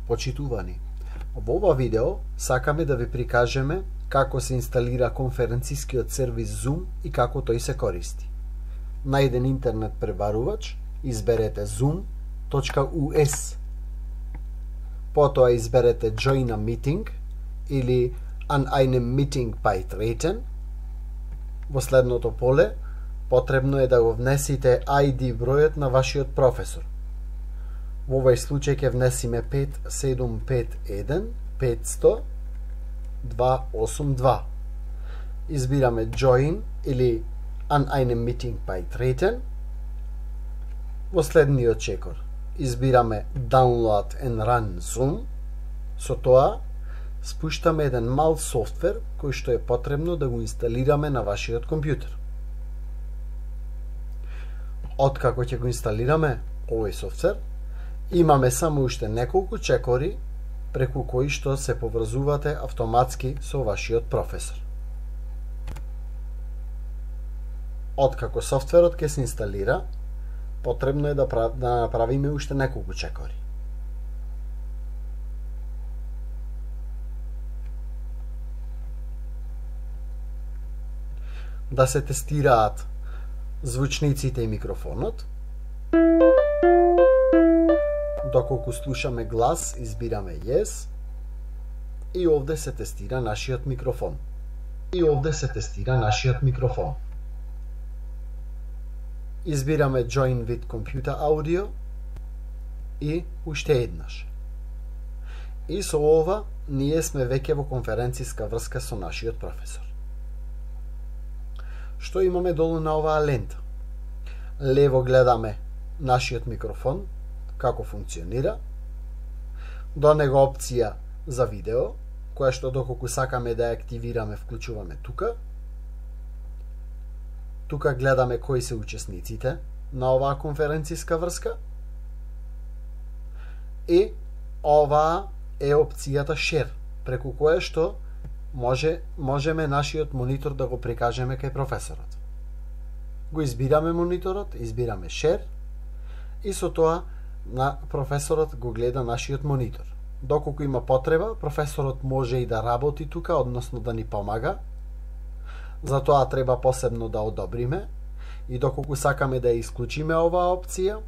Почитувани, во ова видео сакаме да ви прикажеме како се инсталира конференцискиот сервис Zoom и како тој се користи. На еден интернет пребарувач изберете zoom.us. Потоа изберете Join a Meeting или An einem Meeting beitreten. Во следното поле потребно е да го внесите ID бројот на вашиот професор. Во овој случај ќе внесиме 5751 500 282. Избираме Join или An einem Meeting beitreten. Во следниот чекор избираме Download and Run Zoom. Со тоа спуштаме еден мал софтвер кој што е потребно да го инсталираме на вашиот компјутер. Откако ќе го инсталираме овој софтвер, имаме само уште неколку чекори преку кои што се поврзувате автоматски со вашиот професор. Откако софтверот ќе се инсталира, потребно е да направиме уште неколку чекори. Да се тестираат звучниците и микрофонот. Доколку слушаме глас, избираме Yes. И овде се тестира нашиот микрофон. Избираме Join with Computer Audio и уште еднаш. И со ова ние сме веќе во конференциска врска со нашиот професор. Што имаме долу на оваа лента? Лево гледаме нашиот микрофон, како функционира. До него опција за видео, која што доколку сакаме да ја активираме, вклучуваме тука. Тука гледаме кои се учесниците на оваа конференциска врска. И оваа е опцијата Share, преку која што можеме нашиот монитор да го прикажеме кај професорот. Го избираме мониторот, избираме Share и со тоа на професорот го гледа нашиот монитор. Доколку има потреба, професорот може и да работи тука, односно да ни помага. Затоа треба посебно да одобриме и доколку сакаме да ја исклучиме оваа опција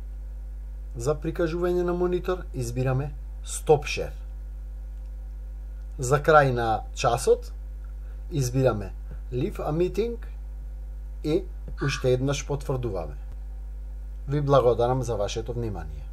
за прикажување на монитор, избираме Stop Share. За крај на часот избираме Leave a Meeting и уште еднаш потврдуваме. Ви благодарам за вашето внимание.